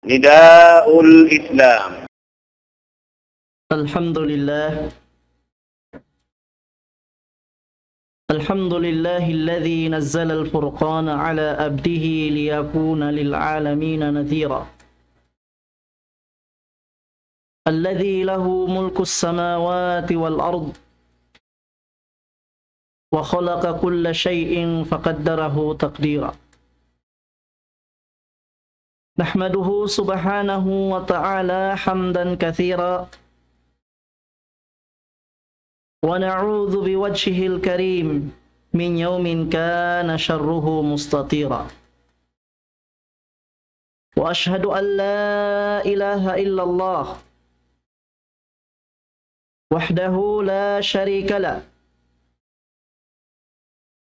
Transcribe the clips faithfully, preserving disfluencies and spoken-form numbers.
نداء الإسلام. الحمد لله. الحمد لله الذي نزل الفرقان على عبده ليكون للعالمين نذيرا. الذي له ملك السماوات والأرض وخلق كل شيء فقدره تقديرا. نحمده سبحانه وتعالى حمدا كثيرا، ونعوذ بوجهه الكريم من يوم كان شره مستطيرا. وأشهد أن لا إله إلا الله وحده لا شريك له،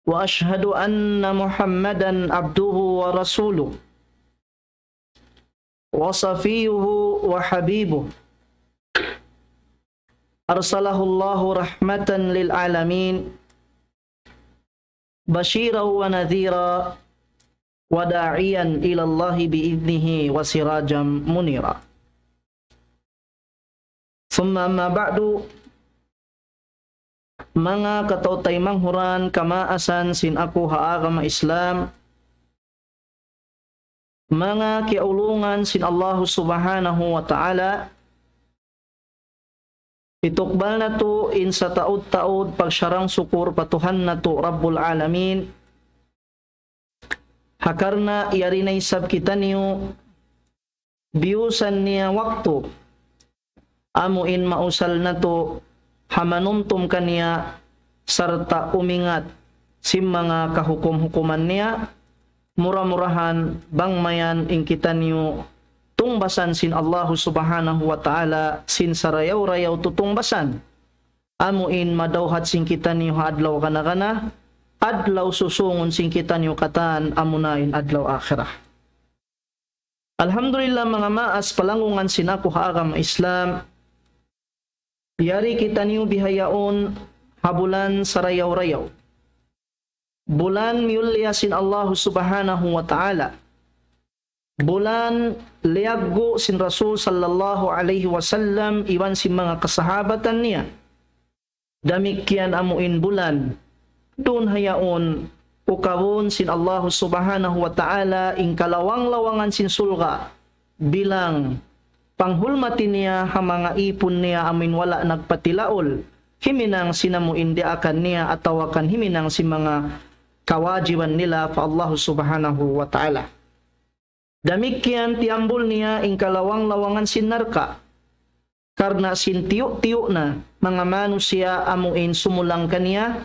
وأشهد أن محمدا عبده ورسوله، وصفيه وحبيبه، أرسله الله رحمة للعالمين، بشيرا ونذيرا، وداعيا إلى الله بإذنه وسراجا منيرا. ثم أما بعد، manga kataymanghuran kamaasan sin aku ha agama Islam, manga kiyaulungan sin Allahu Subhanahu wa Ta'ala, hitukbal natu' in sataud-taud pagsarang-sukur pa Tuhan natu' Rabbul Alamin, ha karna' yari na isab kitaniyu biyusan niya waktu, amu in mausal natu' ha manumtum kaniya sarta' umingat sin manga kahukum-hukuman niya, mura-murahan bang mayan in kitaniyu tungbasan sin Allahu Subhanahu wa Ta'ala sin sarayaw-rayaw tutungbasan. Amu in madawhat sin kitaniyu ha adlaw kana-kana, adlaw susungun sin kitaniyu katan, amuna in adlaw akhirat. Alhamdulillah, manga maas palanggungan sin aku ha agama Islam, yari kitaniyu bihaun ha bulan sarayaw-rayaw. Bulan miyulliya sin Allahu Subhanahu wa Ta'ala. Bulan liyaggu' sin Rasul sallallahu alayhi wasallam iban sin manga kasahabatan niya. Damikkiyan amu in bulan, duun ha yaun ukabun sin Allahu Subhanahu wa Ta'ala in kalawang-lawangan sin surga' bilang panghulmati niya ha manga ipun niya amu in wala' nagpatilaul, himinang sin amu in diyaakan niya atawa kan himinang sin manga kawajiban nila pa Allahu Subhanahu wa Ta'ala. Damikkiyan tiyambul niya in kalawang-lawangan sin narka'. Karna' sin tiyu'-tiyu' na manga manusiya' amu in sumulang kaniya,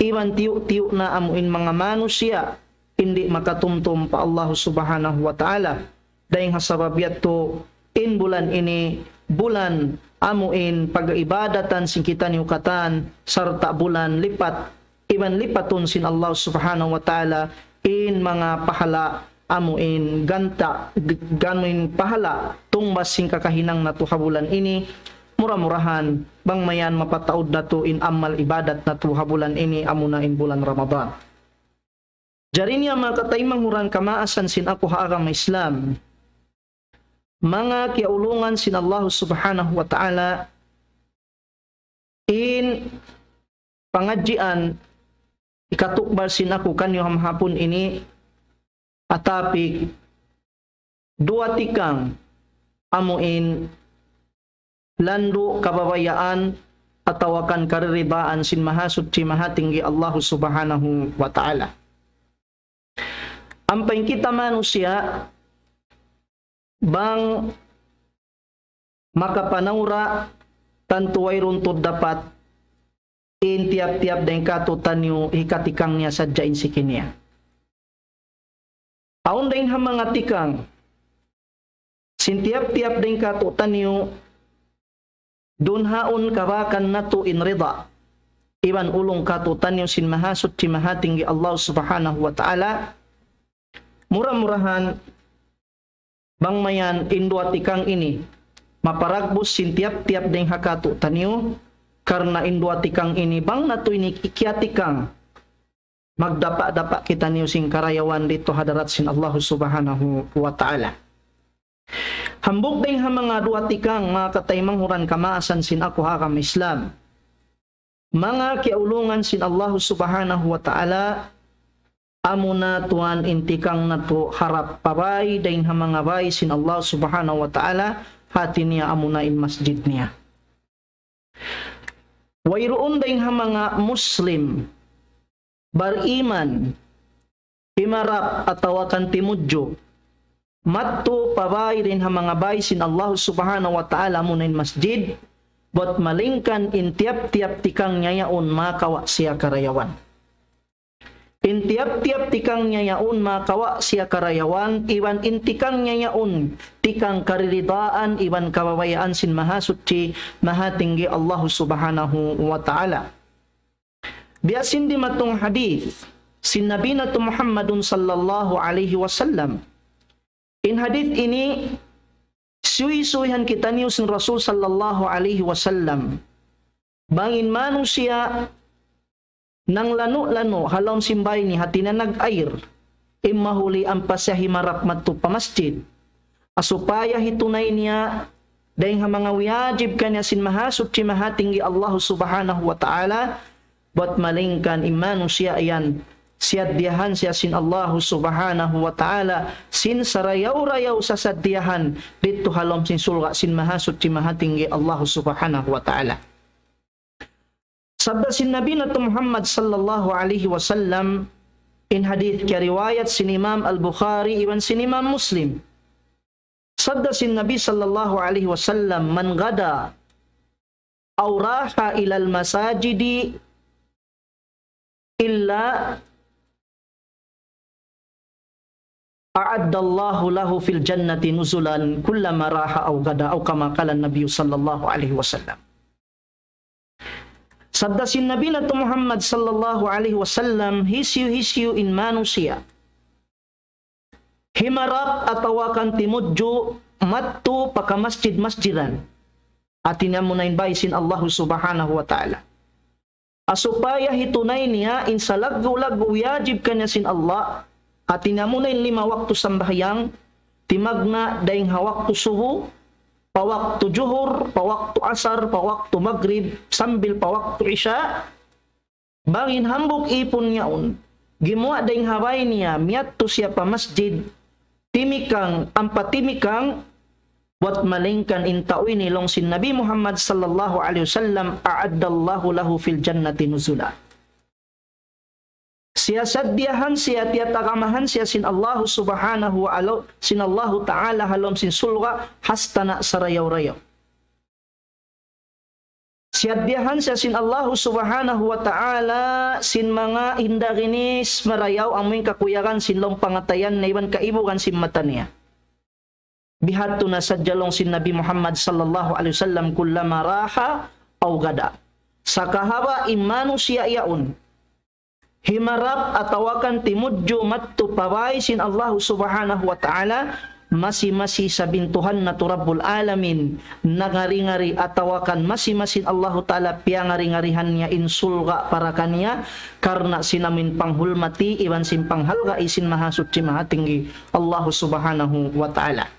iban tiyu'-tiyu' na amu in manga manusiya' di' makatumtum pa Allahu Subhanahu wa Ta'ala. Dayng ha sabab yadtu in bulan ini, bulan amu in pag-ibadatan sin kitaniyu katan, sarta' bulan lipat iban lipatun sin Allah Subhanahu wa Ta'ala in manga pahala amu in ganta', g-, amu in pahala tungbas sin kakahinang natu' ha bulan ini, mura-murahan bang mayan mapataud natu' in amal ibadat natu' ha bulan ini, amuna in bulan Ramadan. Jari niya manga kataymanghuran kamaasan sin aku ha agama Islam, manga kiyaulungan sin Allah Subhanahu wa Ta'ala, in pangadjian hikatukbal sin aku kaniyu ha mahapun ini, atapi duwa tikang amu in landu' kababayaan atawa kan kariridaan sin Mahasuchi Mahatinggi Allahu Subhanahu wa Ta'ala. Ampa in kita manusiya', bang makapanawra, tantu wayruun tuud dapat in tiyap-tiyap dayng kātu'niyu hikatikang niya sadja in siki niya. Awn dayng ha manga tikang sin tiyap-tiyap dayng kātu'niyu, duun haun kabakan natu' in rida iban ulung kātu'niyu sin Mahasuchi Mahatinggi Allah Subhanahu wa Ta'ala. Mura-murahan bang mayan in duwa tikang ini maparagbus sin tiyap-tiyap dayng ha kātu'niyu, karna' in duwa tikang ini bang natu' ini kiyatikang, magdapa'-dapa' kitaniyu sin karayawan didtu ha hadarat sin Allah Subhanahu wa Ta'ala. Hambuuk dayn ha manga duwa tikang, manga kataymanghuran kamaasan sin aku ha agama Islam. Manga kiyaulungan sin Allahu Subhanahu wa Ta'ala, amuna tuwan in tikang natu' harap pa bay dayn ha manga bay sin Allah Subhanahu wa Ta'ala, hati niya amuna in masjid niya. Wayruun dayn ha manga Muslim, bariman, himarap atawa kan timudju, madtu pa bay dayn ha manga bay sin Allah Subhanahu wa Ta'ala amuna in masjid, bat malayngkan in tiyap-tiyap tikang niya yaun makawa' siya karayawan. In tiyap-tiyap tikang niya yaun makawa' siya karayawan, iban in tikang niya yaun tikang kariridaan iban kababayaan sin Mahasuchi, Mahatinggi Allah Subhanahu wa Ta'ala. Biya' sin dimatung hadith sin Nabi natu' Muhammadun sallallahu alayhi wasallam. In hadith ini, suysuyan kitaniyu sin Rasul sallallahu alayhi wasallam. Bang in manusiya' nanglanu'-lanu' ha lawm sin bay niya, hati niya nag-air, in mahuli ampa siya himarap madtu pa masjid. Supaya hitunay niya dayn ha manga wiyajib kaniya sin Mahasuchi Mahatinggi Allahu Subhanahu wa Ta'ala, bat malayngkan in manusiya' yan, siyaddiyahan siya sin Allahu Subhanahu wa Ta'ala sin sarayaw-rayaw sasaddiyahan didtu ha lawm sin surga' sin Mahasuchi Mahatinggi Allahu Subhanahu wa Ta'ala. Sabda sin Nabi natu' Muhammad sallallahu alayhi wasallam, in hadith kiyariwayat sin Imam Al-Bukhari iban sin Imam Muslim. Sabda sin Nabi sallallahu alayhi wasallam, من غدا أو راح إلى المساجد إلا أعد الله له في الجنة نزلا كلما راح أو غدا، أو كما قال النبي صلى الله عليه وسلم. Sabda sin Nabi natu' Muhammad sallallahu alayhi wasallam, hisiyu-hisiyu in manusiya' himarap atawa kan timudju madtu pa kamasjid-masjidan, hati niya amuna in bay sin Allahu Subhanahu wa Ta'ala. Supaya hitunay niya in salaggu'-laggu' wiyajib kaniya sin Allah, hati niya amuna in lima waktu sambahayang, timagna' dayn ha waktu subu, pa waktu juhur, pa waktu asar, pa waktu magrib, sambil pa waktu isya. Bang in hambuuk īpun yaun gimuwa' dayn ha bay niya, miyadtu siya pa masjid, timikang, ampa timikang, bat malayngkan in tau ini, laung sin Nabi Muhammad sallallahu alayhi wasallam, أعد الله له في الجنة نزلا. Siya saddiyahan siya, tiyatagamahan siya sin Allahu Subhanahu wa Ta'ala, sin Allahu Ta'ala ha lawm sin surga', hastana' sarayaw-rayaw. Siyaddiyahan siya sin Allahu Subhanahu wa Ta'ala sin manga hinda ginis marayaw, amuin kakuyagan sin lawm pangatayan niya iban kaibugan sin mata niya. Bihadtu na sadja, laung sin Nabi Muhammad sallallahu alayhi wasallam, كلما راح أو غدا. Sakahaba' in manusiya' yaun himarap atawa kan timudju madtu pa bay sin Allahu Subhanahu wa Ta'ala, masi-masi isab in Tuhan natu' Rabbul Alamin nangari-ngari, atawa kan masi-masi in Allahu Ta'ala piyangari-ngarihan niya in surga' para kaniya, karna' sin amuin panghulmati iban sin panghalgai sin Mahasuchi Mahatinggi Allahu Subhanahu wa Ta'ala.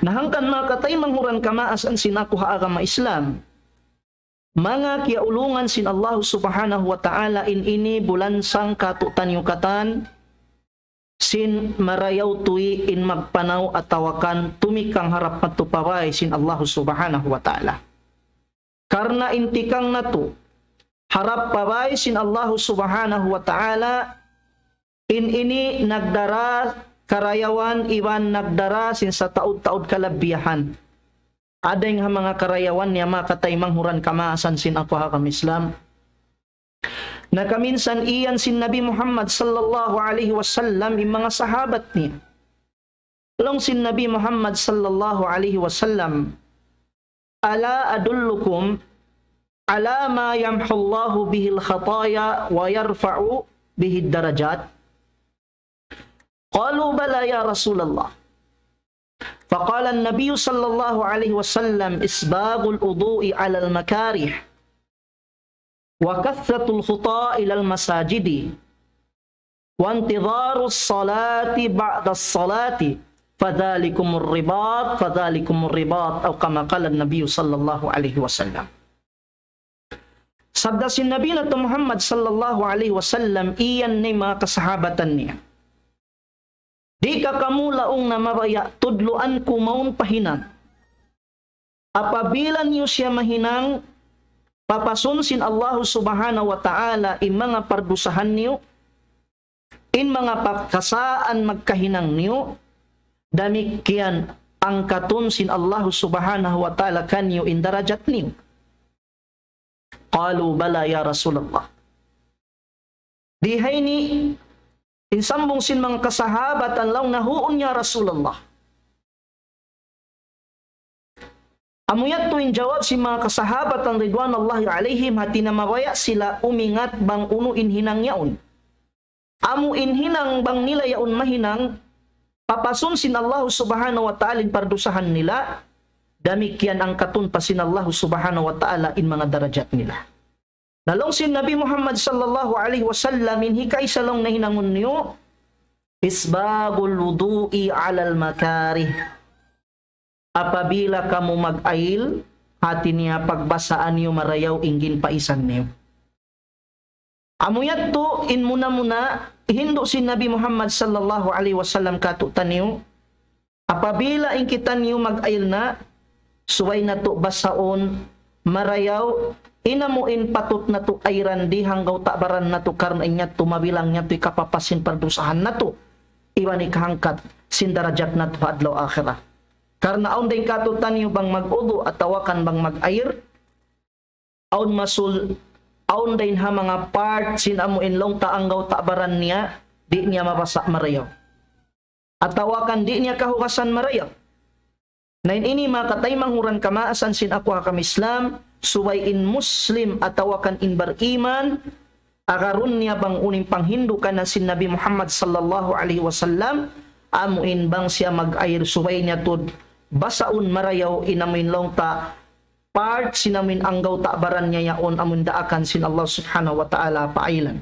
Na hangkan manga kataymanghuran kamaasan sin aku ha agama Islam, manga kiyaulungan sin Allahu Subhanahu wa Ta'ala, in ini bulansang kātu'niyu katan sin marayaw tuwi' in magpanaw atawa kan tumikang harap madtu pa bay sin Allahu Subhanahu wa Ta'ala. Karna' in tikang natu' harap pa bay sin Allahu Subhanahu wa Ta'ala, in ini nagdara karayawan iban nagdara sin sataud-taud kalabbiyahan. Dayn ha manga karayawan niya, manga kataymanghuran kamaasan sin aku ha agama Islam. Na kaminsan iyan sin Nabi Muhammad sallallahu alayhi wasallam in manga sahabat niya. Laung sin Nabi Muhammad sallallahu alayhi wasallam, ألا أدلكم على ما يمحو الله به الخطايا ويرفع به الدرجات؟ قالوا بلى يا رسول الله. فقال النبي صلى الله عليه وسلم: إسباغ الوضوء على المكاره، وكثرة الخطى إلى المساجد، وانتظار الصلاة بعد الصلاة، فذلكم الرباط، فذلكم الرباط، أو كما قال النبي صلى الله عليه وسلم. Sabda sin Nabi natu' Muhammad sallallahu alayhi wasallam, iyan na in manga kasahabatan niya. Di' ka kamu laung na mabaya' tudluan ku mawn pa hinang. Apabila niyu siya mahinang, papasun sin Allahu Subhanahu wa Ta'ala in manga pardusahan niyu, in manga pakasaan magkahinang niyu, damikkiyan angkatun sin Allahu Subhanahu wa Ta'ala kaniyu in darajat niyu. قالوا بلى يا رسول الله. Di ha ini, in sambung sin manga kasahabatan laung na, "Huun ya Rasulullah." Amu yadtu in jawab sin manga kasahabatan ridwanullahi alayhim, hati niya mabaya' sila umingat bang unu in hinang yaun. Amu in hinang bang nila yaun mahinang, papasun sin Allahu Subhanahu wa Ta'ala in pardusahan nila, damikkiyan angkatun pa sin Allahu Subhanahu wa Ta'ala in manga darajat nila. Na laung sin Nabi Muhammad sallallahu alayhi wasallam, in hikaisa laung na hinangun niyu, إسباغ الوضوء على المكاره. Apabila kamu mag-ayil, hati niya pagbasaan niyu marayaw in ginpaisan niyu. Amu yadtu in muna-muna, hindu' sin Nabi Muhammad sallallahu alayhi wasallam kātu'niyu, apabila in kitaniyu mag-ayil na, subay natu' basaun marayaw, in amu in patut natu' ayiran di' hanggaw ta' baran natu' karna' in yadtu mabilang yadtu hikapapas sin pardusahan natu', iban hikahangkat sin darajat natu' ha adlaw akhirat. Karna' awn dayn kātu'niyu bang mag-udu' atawa kan bang mag-ayir, awn masul, awn dayn ha manga part sin amu in laung ta' hanggaw ta' baran niya, di' niya mabasa' marayaw. Atawa kan di' niya kahugasan marayaw. Na in ini manga kataymanghuran kamaasan sin aku ha agama Islam, subay in Muslim atawa kan in bariman, agarun niya bang unu in panghindu' kaniya sin Nabi Muhammad sallallahu alayhi wasallam, amu in bang siya mag-ayir subay niya tuud basaun marayaw in amu in laung ta' part sin amu in hanggaw ta' baran niya yaun amu in daakan sin Allah Subhanahu wa Ta'ala paayilan.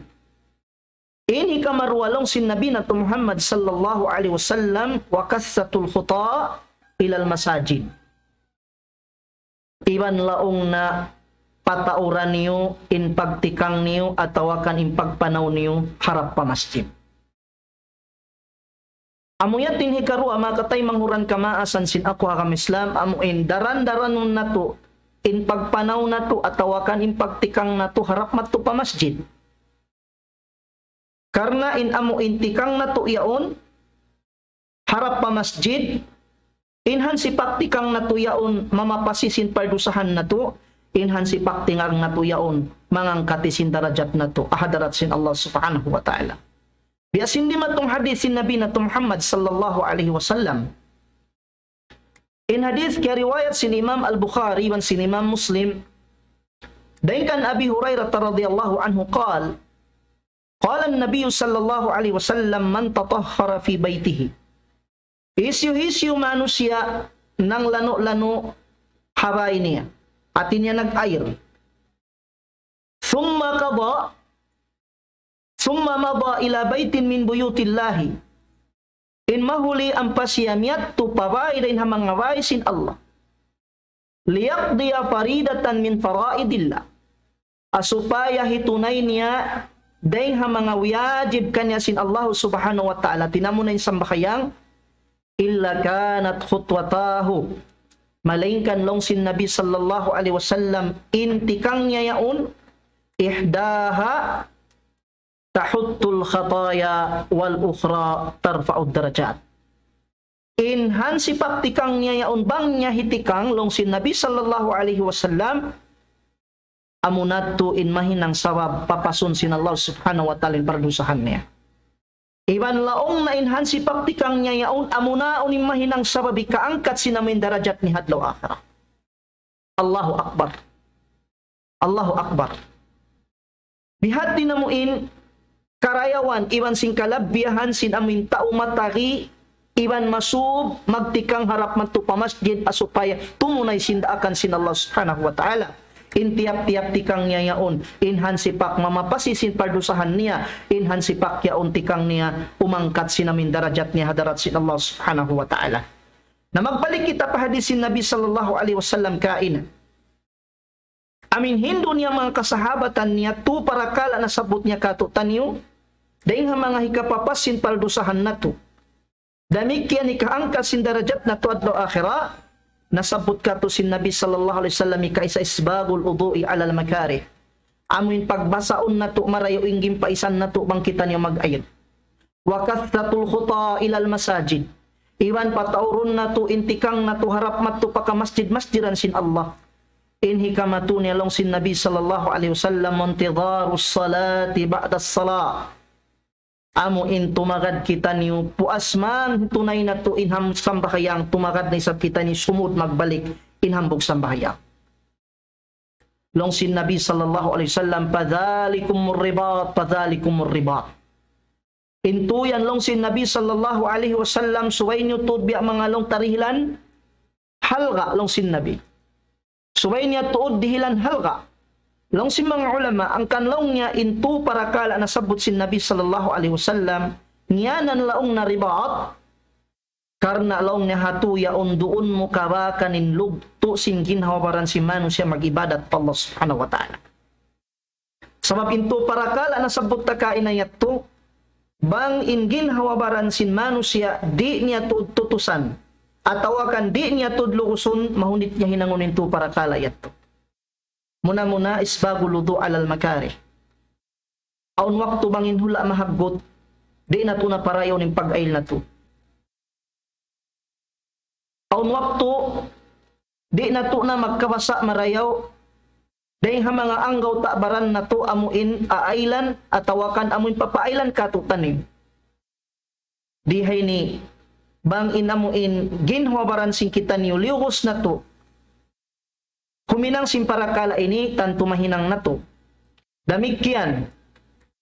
In hikaruwa laung sin Nabi natu' Muhammad sallallahu alayhi wasallam, وكثرة الخطى إلى المساجد. Iban laung na patauran niyu in pagtikang niyu atawa kan in pagpanaw niyu harap pa masjid. Amu yadtu in hikaruwa manga kataymanghuran kamaasan sin aku ha agama Islam, amu in daran-daranun natu' in pagpanaw natu' atawa kan in pagtikang natu' harap madtu pa masjid. Karna' in amu in tikang natu' yaun harap pa masjid, in hansipak tikang natu' yaun mamapasi sin pardusahan natu', in hansipak tikang natu' yaun mangangkati sin darajat natu' ha hadarat sin Allah Subhanahu wa Ta'ala. Biya' sin dimatung hadith sin Nabi natu' Muhammad sallallahu alayhi wasallam. In hadith kiyariwayat sin Imam Al-Bukhari iban sin Imam Muslim, dayn kan Abi Hurairah radhiyallahu anhu قال، قال النبي صلى الله عليه وسلم: من تطهر في بيته. Hisiyu-hisiyu manusiya' nanglanu'-lanu' ha bāy niya, hāti niya nag-ayil. ثم قضى، ثم مضى إلى بيت من بيوت الله. In mahuli ampa siya miyadtu pa bāy dayn ha manga bāy sin Allah. ليقضي فريضة من فرائض الله. Ha supaya hitunay niya dayn ha manga wiyajib kaniya sin Allah Subhanahu wa Ta'ala, hāti niya amu na in sambahayang, إلا كانت خطوتاه. Malaingkan laung sin Nabi sallallahu alayhi wasallam, in tikang niya yaun, إحداها تحط الخطايا والأخرى ترفع الدرجات. In hansipak tikang niya yaun bang niya hitikang laung sin Nabi sallallahu alayhi wasallam, amu na tuud in mahinang sabab papasun sin Allah Subhanahu wa Ta'ala in pardusahan niya. Iban laung na in hansipak tikang niya yaun, amu na tuud in mahinang sabab hikaangkat sin amu in darajat niya ha adlaw akhirat. Allahu Akbar. Allahu Akbar. Bihadtu na amu in karayawan iban sin kalabbihan sin amu in tau matari iban masub magtikang harap madtu pa masjid ha supaya tumunay sin daakan sin Allah Subhanahu wa Ta'ala. In tiyap-tiyap tikang niya yaun, in hansipak mamapasi sin pardusahan niya, in hansipak yaun tikang niya, umangkat sin amin darajat niya ha hadarat sin Allah Subhanahu wa Ta'ala. Na magbalik kita pa hadis sin Nabi sallallahu alayhi wasallam kaina. Amin hindu' niya manga kasahabatan niya, tu parakala' nasabbut niya kātu'niyu, dayn ha manga hikapapas sin pardusahan natu'. Damikkiyan hikaangkat sin darajat natu' adlaw akhirat, nasabbut kātu' sin Nabi sallallahu alayhi wasallam hikaisa isbagul wudu'i alal makarih. Amu in pagbasaun natu' marayaw in ginpaisan natu' bang kitaniyu mag-aid. Wa kathratul khuta ilal masajid. Iban pataurun natu' in tikang natu' harap madtu pa kamasjid-masjidan sin Allah. In hikamatu niya laung sin Nabi sallallahu alayhi wasallam, intidharus salati ba'das salah. Amu in tumagad kitaniyu, puas man tunay natu' in ham-, sambahayang, tumagad na isab kitaniyu sumud magbalik in hambuuk sambahayang. Laung sin Nabi sallallahu alayhi wasallam, fadhalikumur ribat, fadhalikumur ribat. In tuud yan laung sin Nabi sallallahu alayhi wasallam, subay niyu tuud biya' manga laung ta dihilan halga' laung sin Nabi. Subay niya tuud dihilan halga'. Laung sin manga ulama, hangkan laung niya in tu parakala' nasabbut sin Nabi sallallahu alayhi wasallam, ngiyanan laung na ribat, karna' laung niya hatu yaun duun mu kabakan in lugtu' sin ginhawa-baran sin manusiya' mag-ibadat pa Allah Subhanahu wa Ta'ala. Sabab in tu parakala' nasabbut ta kaina yadtu, bang in ginhawa-baran sin manusiya' di' niya tuud tutusan, atawa kan di' niya tuud lugusun, mahunit niya hinangun in tu parakala' yadtu. Muna-muna, isbagul wudu' alal makarih. Awn waktu bang in hula' mahaggut, di' natu' na parayawun in pag-ail natu'. Awn waktu, di' natu' na magkabasa' marayaw, dayn ha manga anggawta' baran natu' amu in aailan, atawa kan amu in papaailan kātu'niyu. Di ha ini, bang in amu in ginhawa-baran sin kitaniyu liyugus natu', huminang sin parakala' ini, tantu mahinang natu'. Damikkiyan,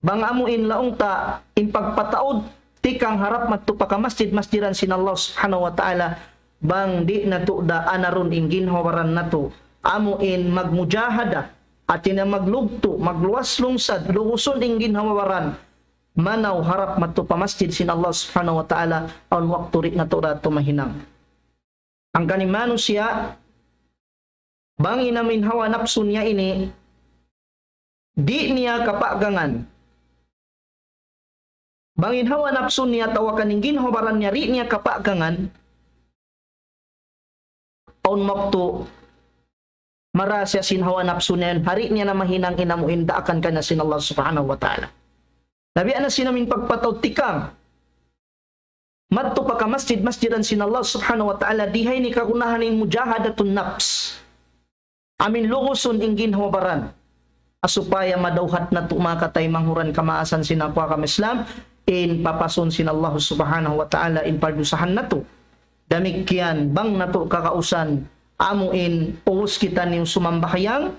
bang amu in laung ta in pagpataud tikang harap madtu pa kamasjid-masjidan sin Allah Subhanahu wa Ta'ala, bang di' natu' da anarun in ginhawa-baran natu', amu in magmujahada, hāti niya maglugtu', magluwas lungsad, lugusun in ginhawa-baran, manaw harap madtu pa masjid sin Allah Subhanahu wa Ta'ala, awn waktu di' natu' da tumahinang. Hangkan in manusiya', bang in amu in hawa napsu niya ini, di' niya kapagangan. Bang in hawa napsu niya atawa kan in ginhawa-baran niya di' niya kapagangan, awn waktu marā siya sin hawa napsu niya, di' niya na mahinang in amu in daakan kaniya sin Allah Subhanahu wa Ta'ala. Na biya' na sin amu in pagpataud tikang madtu pa kamasjid-masjidan sin Allah Subhanahu wa Ta'ala, di ha ini kagunahan in mujahadatun nafs. Amu in lugusun in ginhawa-baran. Supaya madawhat natu' manga kataymanghuran kamaasan sin aku agama Islam, in papasun sin Allah Subhanahu wa Ta'ala in pardusahan natu'. Damikkiyan, bang natu' kagausan, amu in ubus kitaniyu sumambahayang,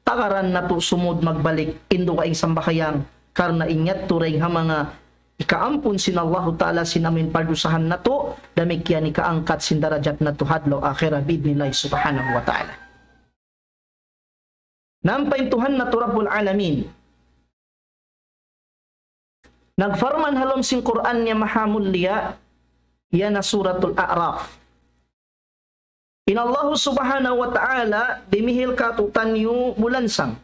tagaran natu' sumud magbalik, in dugaing sambahayang, karna' in yadtu dayn ha manga ikaampun sin Allahu Ta'ala sin amu in pardusahan natu', damikkiyan ikaangkat sin darajat natu' ha adlaw akhirat bi'idhnillahi subhanahu wa ta'ala. Na ampa in Tuhan natu' Rabbul Alamin, nagparman ha lawm sin Qur'an niya mahamulliya, yan na Suratul A'raf. In Allahu Subhanahu wa Ta'ala dimihil kātu'niyu bulansang.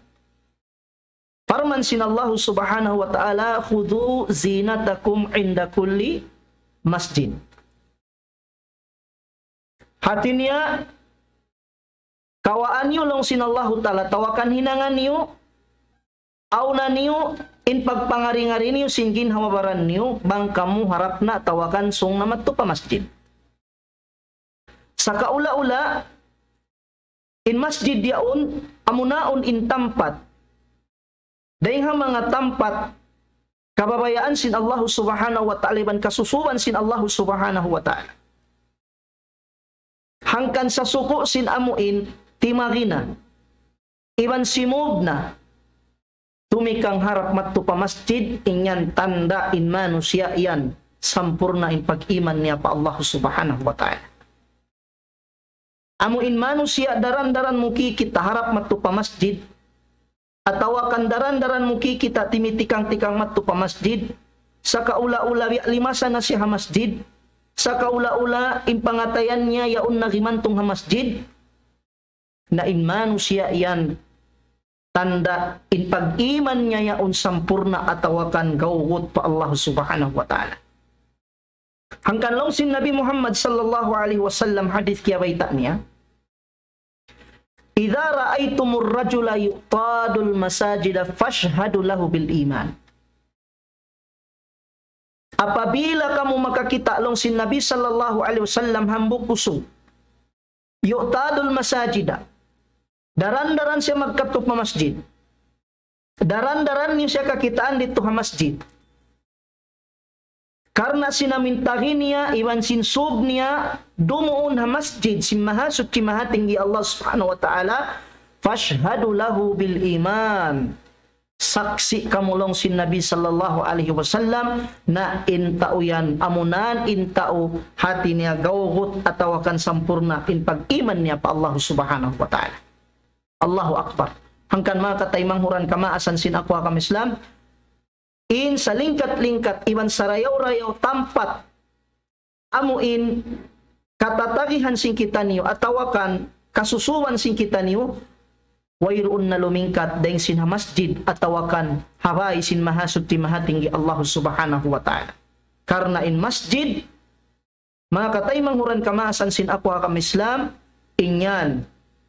Parman sin Allahu Subhanahu wa Ta'ala, "Khudhu zinatakum inda kulli masjid." Hāti niya, kawaa niyu laung sin Allahu Ta'ala, atawa kan hinanga niyu, awna niyu, in pagpangari-ngari niyu sin ginhawa-baran niyu, bang kamu harap na atawa kan sūng na madtu pa masjid. Sakaula-ula, in masjid yaun, amu na yaun in tampat. Dayn ha manga tampat, kababayaan sin Allahu Subhanahu wa Ta'ala, iban kasusuban sin Allahu Subhanahu wa Ta'ala. Hangkan sasuku' sin amu in timagina, iban simūb na, tumikang harap madtu pa masjid, in yan tanda' in manusiya' yan, sampurna' in pag-iman niya pa Allahu Subhanahu wa Ta'ala. Amu in manusiya' daran-daran mu kikita' harap madtu pa masjid, atawa kan daran-daran mu kikita' timitikang-tikang madtu pa masjid, sakaula-ula biya' limasa na siya ha masjid, sakaula-ula in pangatayan niya yaun na gimantung ha masjid, na in manusiya' yan tanda' in pag-iman niya yaun sampurna' atawa kan gawgut pa Allah Subhanahu wa Ta'ala. Hangkan laung sin Nabi Muhammad sallallahu alayhi wasallam hadith kiyabayta' niya, إذا رأيتم الرجل يعتاد المساجد فاشهدوا له بالإيمان. Apabila kamu makakita' laung sin Nabi sallallahu alayhi wasallam hambuuk usug, يعتاد المساجد. Daran-daran siya magkadtu pa masjid. Daran-daran niyu siya kakitaan didtu ha masjid. Karna' sin amu in tagi niya, iban sin sūg niya, dumuun ha masjid, sin Mahasuchi Mahatinggi Allah Subhanahu wa Ta'ala, فاشهدوا له بالإيمان. Saksi' kamu laung sin Nabi sallallahu alayhi wasallam, na in tau yan, amunan in tau hati niya gawgut atawa kan sampurna' in pag-iman niya pa Allah Subhanahu wa Ta'ala. Allahu Akbar. Hangkan manga kataymanghuran kamaasan sin aku ha agama Islam, in salingkat-lingkat iban sarayaw-rayaw tampat amu in katatagihan sin kitaniyu atawa kan kasusuwan sin kitaniyu, wayruun na lumingkat dayn sin ha masjid atawa kan ha bāy sin Mahasuchi Mahatinggi Allah Subhanahu wa Ta'ala. Karna' in masjid, manga kataymanghuran kamaasan sin aku ha agama Islam, in yan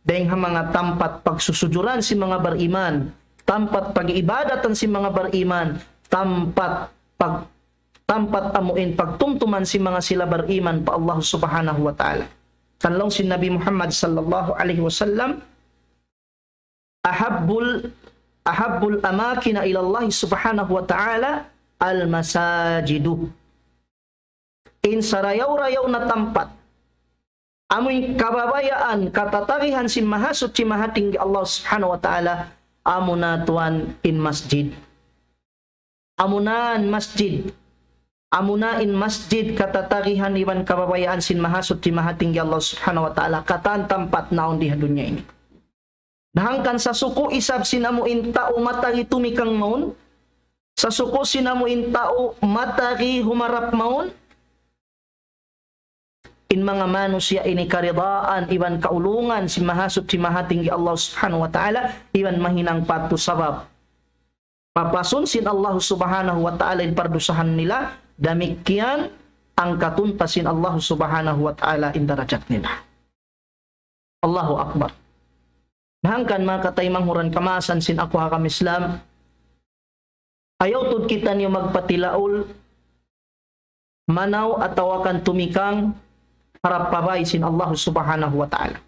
dayn ha manga tampat pagsusujuran sin manga bariman, tampat pag-iibadatan sin manga bariman, tampat pag-, tampat amu in pagtumtuman sin manga sila bariman pa Allah Subhanahu wa Ta'ala. Kan laung sin Nabi Muhammad sallallahu alayhi wasallam, أحب ال-، أحب الأماكن إلى الله سبحانه وتعالى المساجد. In sarayaw-rayaw na tampat, amu in kababayaan, katatagihan sin Mahasuchi Mahatinggi Allah Subhanahu wa Ta'ala, amu na tuwan in masjid. Amu na in masjid. Amu na in masjid katatagihan iban kababayaan sin Mahasuchi Mahatinggi Allah Subhanahu wa Ta'ala, katan tampat naun di ha dunya ini. Na hangkan sasuku' isab sin amu in tau matagi tumikang mawn, sasuku' sin amu in tau matagi humarap mawn, in manga manusiya' ini karidaan iban kaulungan sin Mahasuchi Mahatinggi Allah Subhanahu wa Ta'ala, iban mahinang pa yadtu sabab papasun sin Allah Subhanahu wa Ta'ala in pardusahan nila, damikkiyan angkatun pa sin Allah Subhanahu wa Ta'ala in darajat nila. Allahu Akbar. Na hangkan manga kataymanghuran kamaasan sin aku ha agama Islam, ayaw tuud kitaniyu magpatilaul manaw atawa kan tumikang harap pa bāy sin Allah Subhanahu wa Ta'ala.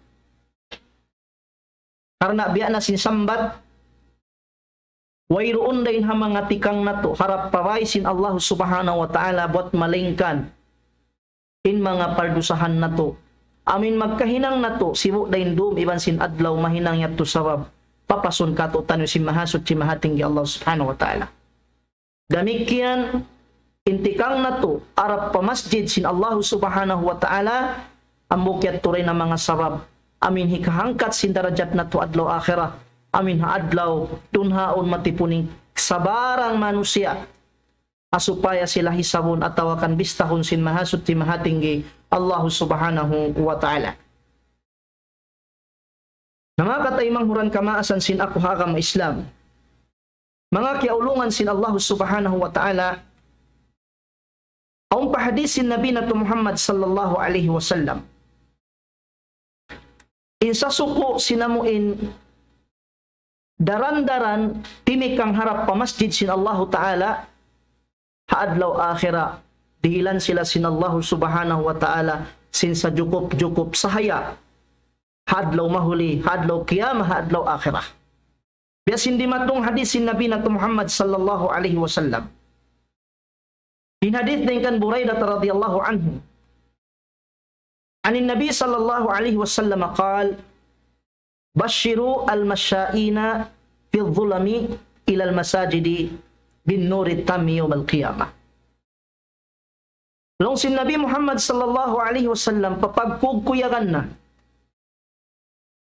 Karna' biya' na sin sambat, wayruun dayn ha manga tikang natu' harap pa bāy sin Allah Subhanahu wa Ta'ala buwat malaingkan in manga pardusahan natu'. Amu in magkahinang natu', sibu' dayn dum iban sin adlaw mahinang yadtu sabab papasun kātu'niyu sin Mahasuchi Mahatinggi Allah Subhanahu wa Ta'ala. Damikkiyan in tikang natu' harap pa masjid sin Allah Subhanahu wa Ta'ala, hambuuk yadtu dayn ha manga sabab amu in hikahangkat sin darajat natu' adlaw akhirat, amu in ha adlaw dunhaun matipun in sabarang manusiya', ha supaya sila hisabun atawa kan bistahun sin Mahasuchi Mahatinggi Allah Subhanahu wa Ta'ala. Na manga kataymanghuran kamaasan sin aku ha agama Islam, manga kiyaulungan sin Allah Subhanahu wa Ta'ala, awn pa hadith sin Nabi natu' Muhammad sallallahu alayhi wasallam, in sasuku' sin amu in daran-daran timikang harap pa masjid sin Allahu Ta'ala, ha adlaw akhirat, dihilan sila sin Allahu Subhanahu wa Ta'ala sin sajukup-jukup sahaya ha adlaw mahuli, ha adlaw qiyamah, ha adlaw akhirat. Biya' sin dimatung hadith sin Nabi natu' Muhammad sallallahu alayhi wasallam. In hadith dayn kan Buraidah radiyallahu anhu. عن النبي صلى الله عليه وسلم قال: بشروا المشائين في الظلم إلى المساجد بالنور التام يوم القيامة. Laung sin Nabi Muhammad sallallahu alayhi wasallam, papagkugkuyagan na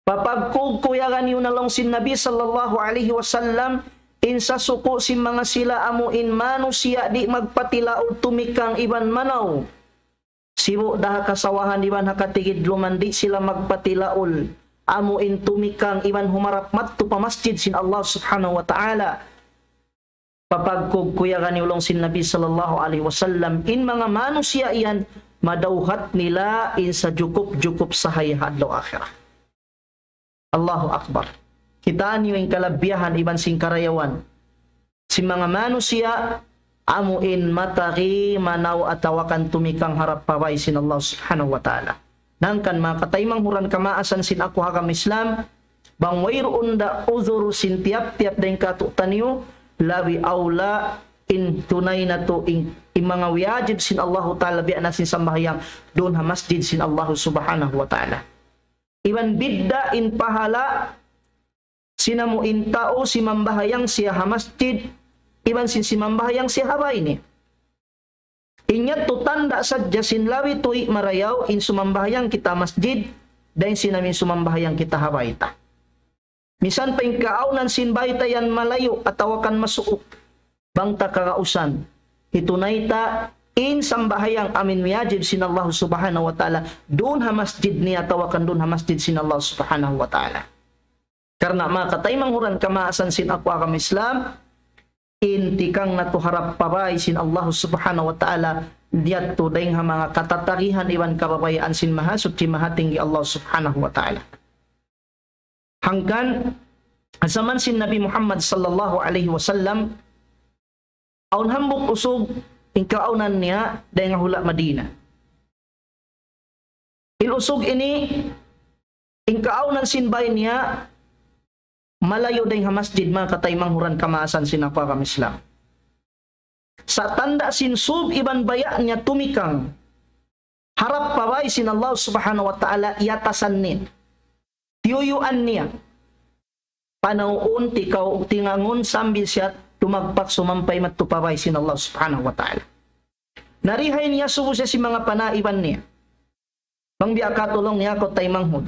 Papagkugkuyagan niyu na laung sin Nabi sallallahu alayhi wasallam, in sasuku' sin manga sila amu in manusiya' di' magpatilaul tumikang iban manaw. Sibu' da ha kasawahan iban ha katigidluman di' sila magpatilaul. Amu in tumikang iban humarap madtu pa masjid sin Allah subhanahu wa ta'ala. Papagkugkuyagan niyu laung sin Nabi sallallahu alayhi wasallam, in manga manusiya' yan, madawhat nila in sajukup-jukup sahaya ha adlaw akhirat. Allahu Akbar. Kitaa niyu in kalabihan iban sin karayawan sin manga manusiya', amu in matari manaw atawa kan tumikang harap pa bāy sin Allah subhanahu wa ta'ala. Hangkan manga kataymanghuran kamaasan sin aku ha agama Islam, bang wayruun da uzur sin tiyap-tiyap dayn kātu'niyu, labi awla in tunay natu' in, in manga wiyajib sin Allahu ta'ala biya' na sin sambahayang duun ha masjid sin Allahu subhanahu wa ta'ala. Iban bidda' in pahala' sin amu in tau simambahayang siya ha masjid, iban sin simambahayang siya ha bāy niya. In yadtu tanda' sadja sin labi tuud marayaw in sumambahayang kita masjid, dayn sin amu in sumambahayang kita ha bāy ta. Misan pa in kaawnan sin bāy ta yan malayu' atawa kan masuuk. Bang ta kagausan, hitunay ta in sambahayang amu in wiyajib sin Allah subhanahu wa ta'ala, duun ha masjid niya atawa kan duun ha masjid sin Allah subhanahu wa ta'ala. Karna' manga kataymanghuran kamaasan sin aku ha agama Islam, in tikang natu' harap pa bāy sin Allah subhanahu wa ta'ala, yadtu dayn ha manga katatarihan iban kababayaan sin Mahasuchi Mahatinggi Allah subhanahu wa ta'ala. Hangkan, ha jaman sin Nabi Muhammad sallallahu alayhi wasallam, awn hambuuk usug in kaawnan niya dayn ha hula' Madina. In usug ini, in kaawnan sin bāy niya, malayu' dayn ha masjid, manga kataymanghuran kamaasan sin aku ha agama Islam. Sa' tanda' sin sūb iban baya' niya tumikang harap pa bāy sin Allah subhanahu wa ta'ala, iyatasan niya. Tiyuyuan niya. Panawun tikaw tingangun sambil siya tumagpak sumampay madtu pa bāy sin Allah subhanahu wa ta'ala. Narihay niya subu siya sin manga panaiban niya. Bang biya' kātu' laung niya, kaw taymanghud,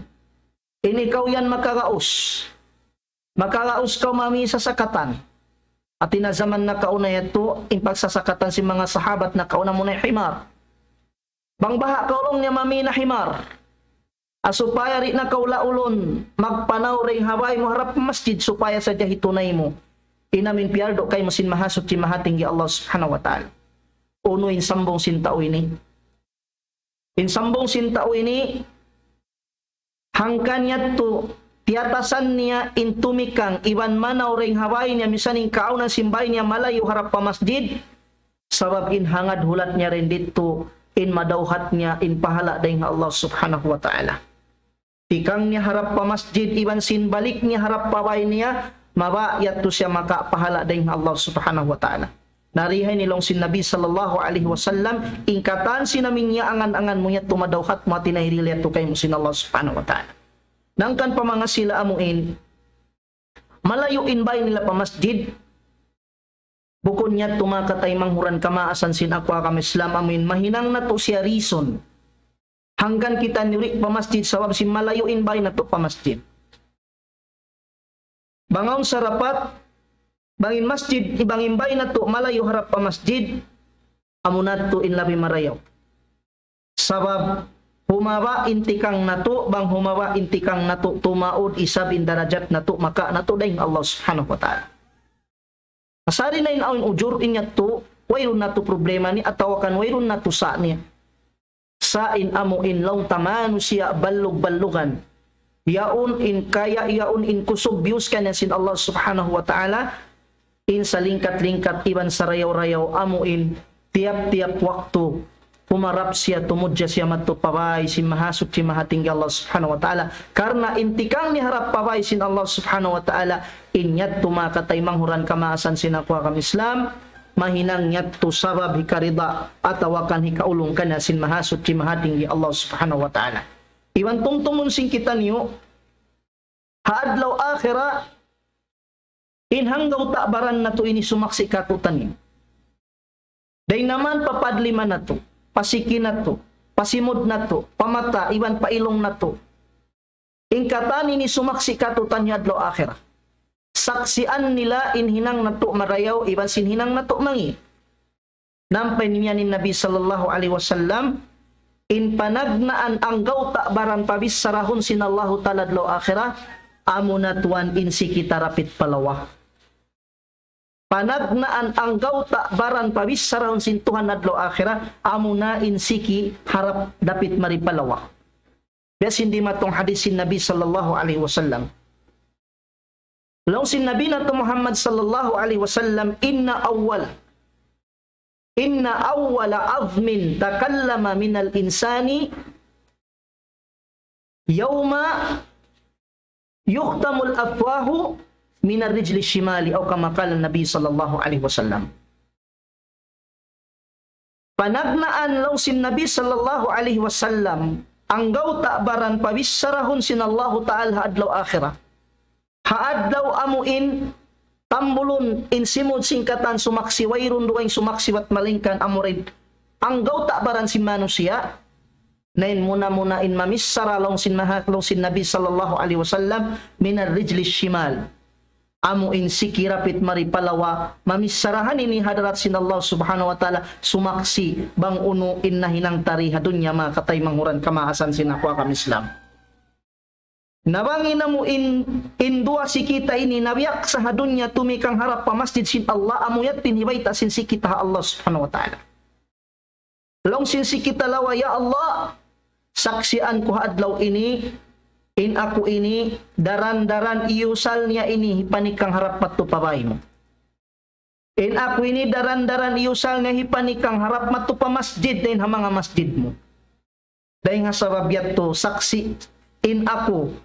in ikaw yan makagaus. Makagaus kaw mami sasakatan. Hāti niya jaman nakauna yadtu, in pagsasakatan sin manga sahabat nakauna amuna himar. Bang baha' kaw laung niya mami na himar. Ah, supaya di' na kaw laulun magpanaw dayn ha bāy mu harap masjid, supaya sadja hitunay mu in amu in piyardu kaymu sin Mahasuchi Mahatinggi Allah subhanahu wa ta'ala. Unu in sambung sin tau ini? In sambung sin tau ini, hangkan yadtu, tiyatasan niya in tumikang iban manaw dayn ha bāy niya, misan in kaawnan sin bāy niya malayu' harap pa masjid, sabab in hangad hulat niya dayn didtu, in madawhat niya in pahala' dayn ha Allah subhanahu wa ta'ala. Tikang niya harap pa masjid, iban sin balik niya harap pa bāy niya, mabaya' yadtu siya makapahala' dayn ha Allah subhanahu wa ta'ala. Narihay ini laung sin Nabi sallallahu alayhi wasallam, in katan sin amu in iyaangan-angan mu yadtu madawhat mu, hāti niya hirihil yadtu kaymu sin Allah subhanahu wa ta'ala. Hangkan pa manga sila amu in, malayu' in bāy nila pa masjid, bukun yadtu manga kataymanghuran kamaasan sin aku ha agama Islam amu in mahinang natu' siya reason. Hangkan kitaniyu di' pa masjid sabab sin malayu' in bāy natu' pa masjid. Bang awn sarapat, bang in masjid, bang in bāy natu' malayu' harap pa masjid, amuna yadtu in labi marayaw. Sabab, humaba' in tikang natu', bang humaba' in tikang natu', tumaud isab in darajat natu', makawa' natu' dayn ha Allah subhanahu wa ta'ala. Asari na in awn ujur in yadtu, wayruun natu' problema niya, atawa kan wayruun natu' sa' niya. Sa' in amu in laung ta manusiya' ballug-ballugan. Yaun in kaya, yaun in kusug biyus kaniya sin Allah subhanahu wa ta'ala, in salingkat-lingkat iban sarayaw-rayaw amu in tiyap-tiyap waktu humarap siya, tumudja siya madtu pa bāy sin Mahasuchi Mahatinggi Allah subhanahu wa ta'ala. Karna' in tikang niya harap pa bāy sin Allah subhanahu wa ta'ala, in yadtu manga kataymanghuran kamaasan sin aku ha agama Islam, mahinang yadtu sabab hikarida atawa kan hikaulung kaniya sin Mahasuchi Mahatinggi Allah subhanahu wa ta'ala. Iban tumtumun sin kitaniyu, ha adlaw akhirat, in hanggaw ta' baran natu' ini sumaksi' kātu'niyu. Dayn ha manga papadlima natu', pa siki natu', pa simud natu', pa mata, iban pa ilung natu'. In katan ini sumaksi' katu'taniyu adlaw akhirat. Saksian nila in hinang natu' marayaw iban sin hinang natu' mangi'. Ampa in imiyan in Nabi sallallahu alayhi wasallam, in panagnaan anggawta' baran pabichara sin Allahu Ta'ala adlaw akhirat, amuna tuwan in siki tarapit pa lawa. Panagnaan anggawta' baran pabichara sin Tuhan adlaw akhirat, amuna in siki harap dapit mari pa lawa. Biya' sin dimatung hadith sin Nabi sallallahu alayhi wasallam. Laung sin Nabi natu' Muhammad sallallahu alayhi wasallam, إن أول إن أول عظم تكلم من الإنسان يوم يختم الأفواه من الرجل الشمال، أو كما قال النبي صلى الله عليه وسلم. Panagnaan laung sin Nabi sallallahu alayhi wasallam, anggawta' baran pabichara sin Allahu Ta'ala adlaw akhirat. Ha adlaw amu in tambulun in simud sin katan sumaksi', wayruun dugaing sumaksi' bat malaingkan amura in anggawta' baran sin manusiya'. Na in muna-muna in mamichara laung sin maha, laung sin Nabi sallallahu alayhi wasallam, من الرجل الشمال. Amu in siki rapit mari pa lawa, mamichara ini ha hadarat sin Allah subhanahu wa ta'ala, sumaksi' bang unu in nahinang ta di ha dunya, manga kataymanghuran kamaasan sin aku agama Islam. Na bang in amu in, in duwa siki ta ini nabiaksa ha dunya tumikang harap pa masjid sin Allah, amu yadtu in hibayta' sin siki ta ha Allah subhanahu wa ta'ala. Laung sin siki ta lawa, "Ya Allah, saksian ku ha adlaw ini, in aku ini, daran-daran iyusal niya ini hipanikang harap madtu pa bāy mu. In aku ini, daran-daran iyusal niya hipanikang harap madtu pa masjid dayn ha manga masjid mu. Dayn ha sabab yadtu, saksi in aku,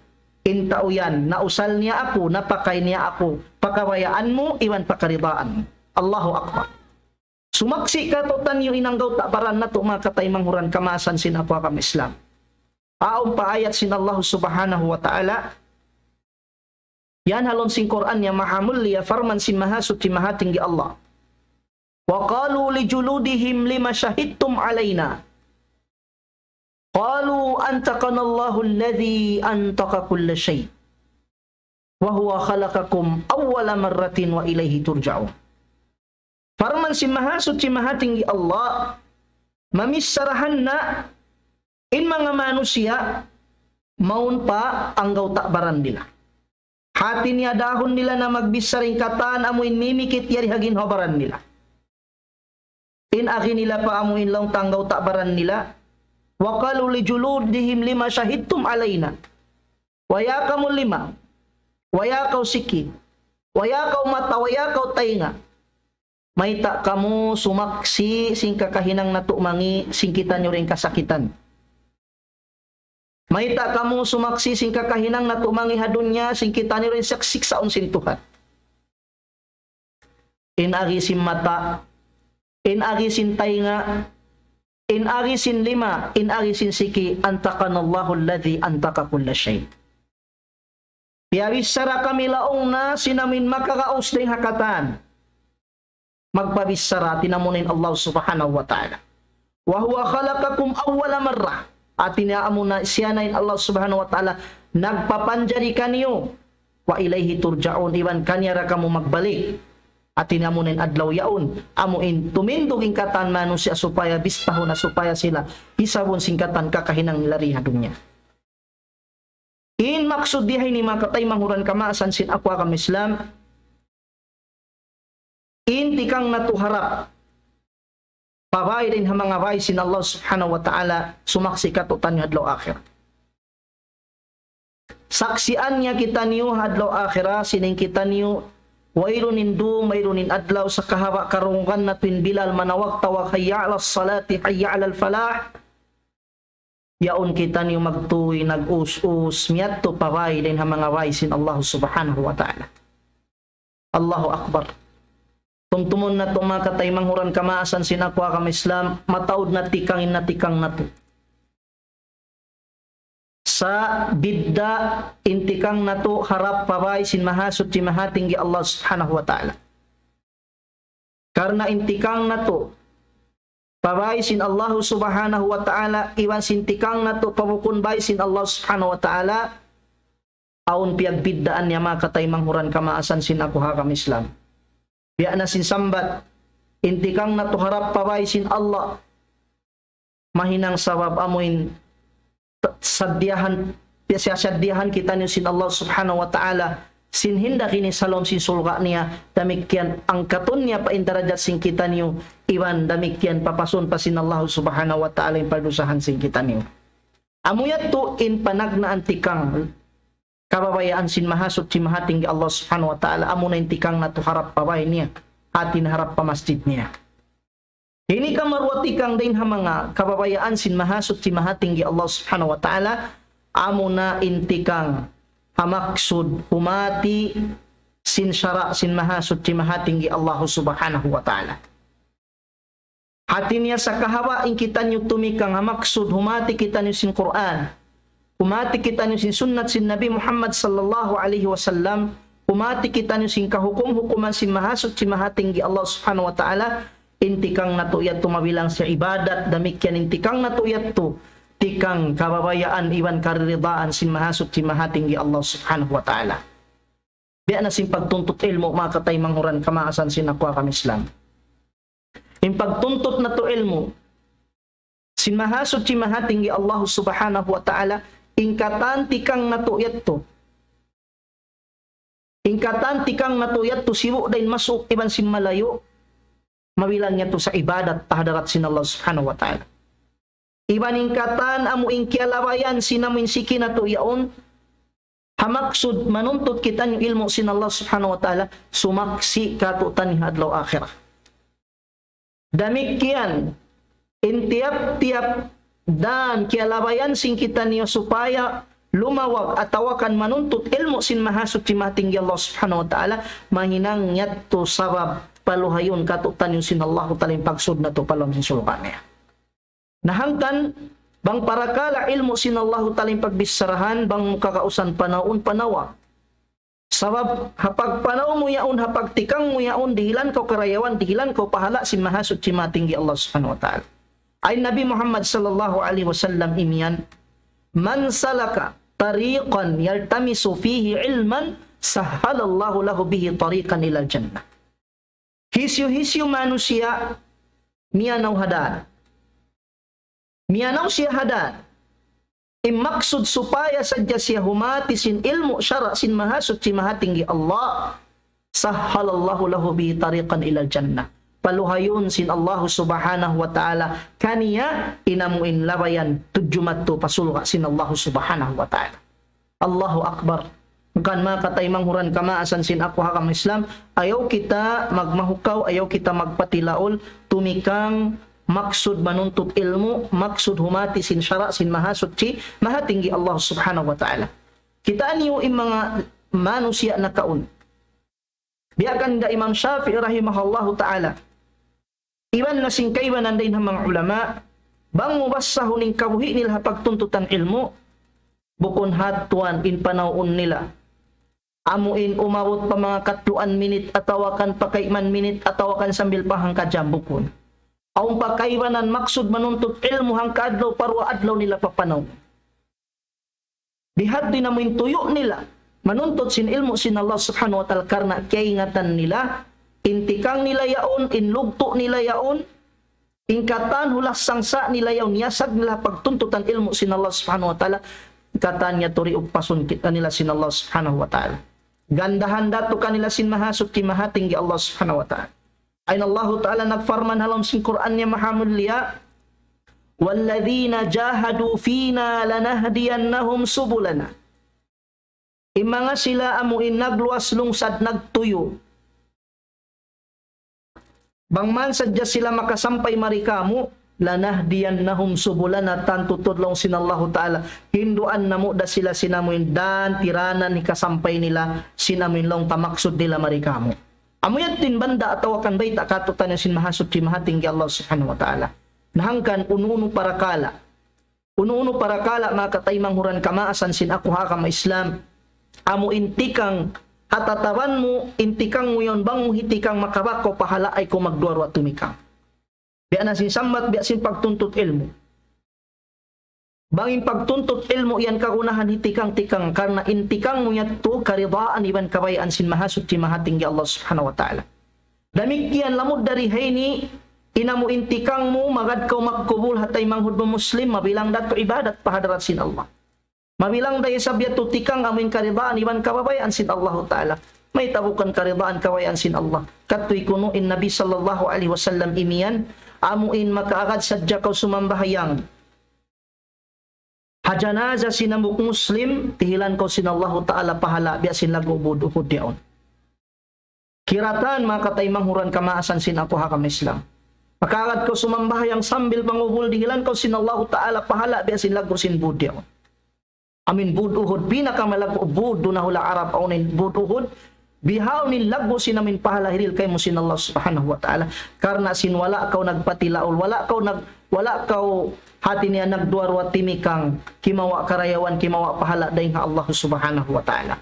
in tau yan, nausal niya aku, napakay niya aku, pa kabayaan mu, iban pa karidaan mu." Allahu Akbar. Sumaksi' katu'taniyu in anggawta' baran natu', manga kataymanghuran kamaasan sin aku agama Islam. Awn pa ayat sin Allah subhanahu wa ta'ala, yan ha lawm sin Qur'an niya maha mulia, parman sin Mahasuchi Mahatinggi Allah. وقالوا لجلودهم لم شهدتم علينا قالوا أنطقنا الله الذي أنطق كل شيء وهو خلقكم أول مرة وإليه ترجعون. Parman sin Mahasuchi Mahatinggi Allah, mamicharahan na in manga manusiya' mawn pa anggawta' baran nila. Hati niya dahun nila na magbichara in katan amu in mimikit yari ha ginhawa-baran nila. In agi nila pa amu in laung ta anggawta' baran nila, وقالوا لجلودهم لم شهدتم علينا. Way kamu lima, way kaw siki, way kaw mata, way kaw taynga. Mayta' kamu sumaksi' sin kakahinang natu' mangi' sin kitaniyu dayn kasakitan? Mayta' kamu sumaksi' sin kakahinang natu' mangi' ha dunya sin kitaniyu dayn siksaun sin Tuhan? In agi sin mata, in agi sin taynga, in agi sin lima, in agi sin siki, أنطقنا الله الذي أنطق كل شيء. Piyabichara kami laung na sin amu in makagaus dayn ha katan. Magpabichara, hati niya amuna in Allah subhanahu wa ta'ala. وهو خلقكم أول مرة. Hati niya amuna siya na in Allah subhanahu wa ta'ala nagpapanjari kaniyu. وإليه ترجعون, iban kaniya da kamu magbalik. Hati niya amuna in adlaw yaun, amu in tumindug in katan manusiya' supaya bistahun na supaya sila hisabun sin katan kakahinang nila di ha dunya. In maksud di ha ini manga kataymanghuran kamaasan sin aku agama Islam, in tikang natu' harap pa bāy dayn ha manga bāy sin Allah subhanahu wa ta'ala, sumaksi' katu'taniyu adlaw akhirat. Saksian niya kitaniyu ha adlaw akhirat, sin in kitaniyu wayruun in dum, wayruun in adlaw, sa' kahaba' karungugan natu' in bilal manawag-tawag, حي على الصلاة حي على الفلاح. Yaun kitaniyu magtuy, nag-us-us, miyadtu pa bāy dayn ha manga bāy sin Allah subhanahu wa ta'ala. Allahu Akbar. Tumtumun natu' manga kataymanghuran kamaasan sin aku agama Islam, mataud na tikang in natikang natu'. Sa' bidda' in tikang natu' harap pa bāy sin Mahasuchi Mahatinggi Allah subhanahu wa ta'ala. Karna' in tikang natu' pa bāy sin Allah subhanahu wa ta'ala, iban sin tikang natu' pa bukun bāy sin Allah subhanahu wa ta'ala, awn piyagbiddaan niya manga kataymanghuran kamaasan sin aku ha agama Islam. Biya' na sin sambat, in tikang natu' harap pa bāy sin Allah. Mahinang sabab amuin t-, saddiyahan, siyasadiyahan kitaniyu sin Allah Subhanahu wa Ta'ala, sin hinda kini salom sin sulga' niya, damikkiyan angkatun niya pa in darajat sin kitaniyu, iban damikkiyan papasun pa sin Allah Subhanahu wa Ta'ala in pagdusahan sin kitaniyu. Amu yadtu in panagnaan tikang kababayaan sin Mahasuchi Mahatinggi Allah Subhanahu wa Ta'ala, amuna in tikang natu' harap pa bāy niya, hāti niya harap pa masjid niya. Ini kamaruwa tikang dayn ha manga kababayaan sin Mahasuchi Mahatinggi Allah Subhanahu wa Ta'ala, amuna in tikang ha maksud humāti sin sara' sin Mahasuchi Mahatinggi Allah Subhanahu wa Ta'ala. Hāti niya sa kahaba' in kitaniyu tumikang ha maksud humāti kitaniyu sin Qur'an. Humāti kitaniyu sin sunnat sin Nabi Muhammad sallallahu alayhi wasallam. Humāti kitaniyu sin kahukum-hukuman sin Mahasuchi Mahatinggi Allah Subhanahu wa Ta'ala. In tikang natu' yadtu mabilang sin ibadat. Damikkiyan in tikang natu' yadtu tikang kababayaan iban kariridaan sin Mahasuchi Mahatinggi Allah Subhanahu wa Ta'ala. Biya' na sin pagtuntut ilmu', manga kataymanghuran kamaasan sin aku ha agama Islam. In pagtuntut natu' ilmu' sin Mahasuchi Mahatinggi Allah Subhanahu wa Ta'ala, in katan tikang natu' yadtu. In katan tikang natu' yadtu sibu' dayn masuuk iban sin malayu', mabilang yadtu sa ibadat pa hadarat sin Allah Subhanahu wa Ta'ala. Iban in katan amu in kiyalabayan sin amu in siki natu' yaun, ha maksud manuntut kitaniyu ilmu' sin Allah Subhanahu wa Ta'ala, sumaksi' kātu'niyu ha adlaw akhirat. Damikkiyan, in tiyap-tiyap dan kiyalabayan sin kitaniyu supaya lumawag atawa kan manuntut ilmu' sin Mahasuchi Mahatinggi Allah Subhanahu wa Ta'ala, mahinang yadtu sabab paluhayun kātu'niyu sin Allah Ta'ala in pagsud natu' pa lawm sin sulga' niya. Na hangkan, bang parakala' ilmu' sin Allahu Ta'ala in pagbicharahan, bang mu kakausan panaun panawa. Sabab, ha pagpanaw mu yaun, ha pagtikang mu yaun, dihilan kaw karayawan, dihilan kaw pahala' sin Mahasuchi Mahatinggi Allah Subhanahu wa Ta'ala. Ayn Nabi Muhammad sallallahu alayhi wasallam imiyan, من سلك طريقا يلتمس فيه علما سهل الله له به طريقا إلى الجنة. Hisiyu-hisiyu manusiya' miyanaw ha dan. Miyanaw siya ha dan. In maksud supaya sadja siya humāti sin ilmu' sara' sin Mahasuchi Mahatinggi Allah. سهل الله له به طريقا إلى الجنة. Paluhayun sin Allah Subhanahu wa Ta'ala kaniya in amu in labayan tudju madtu pa sulga' sin Allah Subhanahu wa Ta'ala. Allahu Akbar. Hangkan manga kataymanghuran kamaasan sin aku ha agama Islam, ayaw kita magmahukaw, ayaw kita magpatilaul, tumikang maksud manuntut ilmu', maksud humāti sin sara' sin Mahasuchi, Mahatinggi Allah Subhanahu wa Ta'ala. Kitaa niyu in manga manusiya' nakauna. Biya' kan da Imam Shafi'i rahimahullahu ta'ala. Iban na sin kaibanan dayn ha manga ulama, bang mu basahun in kabuhi' nila ha pagtuntutan ilmu', bukun ha tuwan in panaun nila. Amu in umabut pa manga katluan minit, atawa kan pa kaiman minit, atawa kan sambil pa hangka jam, bukun. Awn pa kaibanan maksud manuntut ilmu' hangka adlaw, pa duwa adlaw nila papanaun. Bihadtu in amu in tuyu' nila manuntut sin ilmu' sin Allah Subhanahu wa Ta'ala karna' kiyaingatan nila, in tikang nila yaun, in lugtu' nila yaun, in katan hulas sangsa' nila yaun, yasag nila pagtuntutan ilmu' sin Allah Subhanahu wa Ta'ala, katan yadtu ri upasun kita nila sin Allah Subhanahu wa Ta'ala. Gandahan da tu' kanila sin Mahasuchi Mahatinggi Allah Subhanahu wa Ta'ala. Ayn Allahu Ta'ala nagparman ha lawm sin Qur'an niya mahamulliya, والذين جاهدوا فينا لنهدينهم سبلنا. In manga sila amu in nagluwas lungsad nagtuyu'. Bang man sadja sila makasampay mari kāmu', لنهدينهم سبلنا, tantu tuud laung sin Allahu Ta'ala, hinduan namu' da sila sin amu in dan tiranan hikasampay nila sin amu in laung ta maksud nila mari kāmu'. Amu yadtu in banda' atawa kan bayta' kātu'niyu sin Mahasuchi Mahatinggi Allah Subhanahu wa Ta'ala. Na hangkan unu-unu parakala'. Unu-unu parakala' manga kataymanghuran kamaasan sin aku ha agama Islam. Amu in tikang ha tataban mu, in tikang mu yaun bang mu hitikang makabak kaw pahala' ayaw kaw magduwa-ruwa tumikang. Biya' na sin sambat, biya' sin pagtuntut ilmu'. Bang in pagtuntut ilmu' yan kagunahan hi tikang-tikang, karna' in tikang mu yadtu karidaan iban kabayaan sin Mahasuchi Mahatinggi Allah Subhanahu wa Ta'ala. Damikkiyan lamud dari ha ini, in amu in tikang mu, magad kaw magkubul ha taymanghud mu Muslim, mabilang da tu ibadat pa hadarat sin Allah. Mabilang da isab yadtu tikang amu in karidaan iban kabayaan sin Allahu Ta'ala. Mayta' bukun karidaan kabayaan sin Allah? Katu' kunu' in Nabi sallallahu alayhi wasallam imiyan, amu in makaagad sadja kaw sumambahayang ha janaza sin hambuuk Muslim, dihilan kaw sin Allahu Ta'ala pahala' biya' sin laggu' Uhud yaun. Kiratan, manga kataymanghuran kamaasan sin aku ha agama Islam. Makaagad kaw sumambahayang sambil pangubul, dihilan kaw sin Allahu Ta'ala pahala' biya' sin laggu' sin Uhud yaun. Amu in Uhud, pinakamalagu' Uhud duun ha hula' Arab, awn in Uhud. Bihaun in laggu' sin amu in pahala' hirihil kaymu sin Allah Subhanahu wa Ta'ala. Karna' sin wala' kaw nagpatilaul, wala' kaw nag-, wala' kaw hati niya nagduwa-ruwa timikang, kimawa' karayawan, kimawa' pahala' dayn ha Allah Subhanahu wa Ta'ala.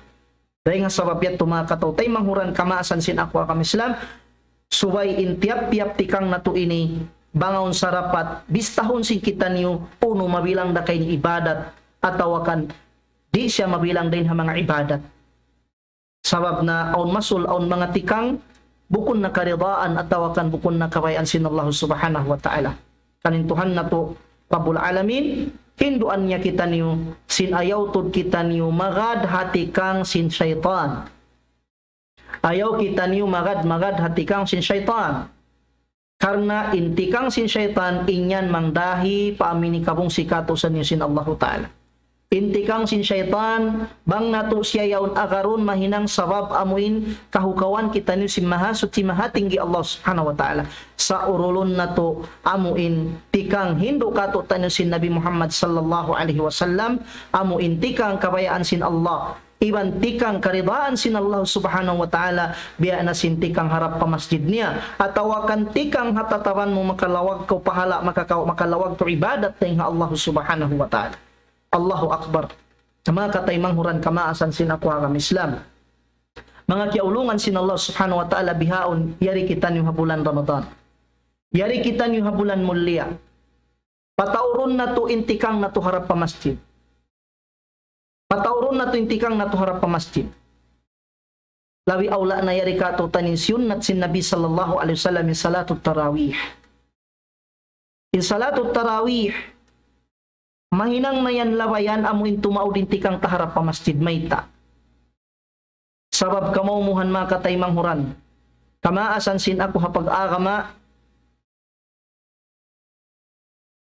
Dayn ha sabab yadtu, manga kataymanghuran kamaasan sin aku ha agama Islam, subay in tiyap-tiyap tikang natu' ini, bang awn sarapat, bistahun sin kitaniyu, unu mabilang da ka ini ibadat, atawa kan di' siya mabilang dayn ha manga ibadat. Sabab na awn masul, awn manga tikang, bukun na karidaan atawa kan bukun na kabayaan sin Allah Subhanahu wa Ta'ala. Kan in Tuhan natu', Rabbul Alamin, hinduan niya kitaniyu, sin ayaw tuud kitaniyu magad ha tikang sin saytan. Ayaw kitaniyu magad, magad ha tikang sin saytan. Karna' in tikang sin saytan, in yan mangdahi pa amu in kabungsi katusan niyu sin Allahu Ta'ala. In tikang sin saytan, bang natu' siya yaun agarun, mahinang sabab amu in kahukawan kitaniyu sin Mahasuchi Mahatinggi Allah Subhanahu wa Ta'ala. Sa' urulun natu' amu in tikang hindu' katu'taniyu sin Nabi Muhammad sallallahu alayhi wasallam, amu in tikang kabayaan sin Allah, iban tikang karidaan sin Allah Subhanahu wa Ta'ala, biya' na sin tikang harap pa masjid niya, atawa kan tikang ha tataban mu, makalawag kaw pahala', makakaw-, makalawag kaw ibadat dayn ha Allah Subhanahu wa Ta'ala. Allahu Akbar. Manga kataymanghuran kamaasan sin aku ha agama Islam. Manga kiyaulungan sin Allah Subhanahu wa Ta'ala, bihaun, yari kitaniyu ha bulan Ramadan. Yari kitaniyu ha bulan mulia. Pataurun natu' in tikang natu' harap pa masjid. Pataurun natu' in tikang natu' harap pa masjid. Labi awla na yari katu'taniyu in siyunnat sin Nabi sallallahu alayhi wasallam in salatut tarawih. In salatut tarawih, mahinang na yan labayan amu in tumaud in tikang ta harap pa masjid, mayta'? Sabab kamaumuhan, manga kataymanghuran, kamaasan sin aku ha pag-agama,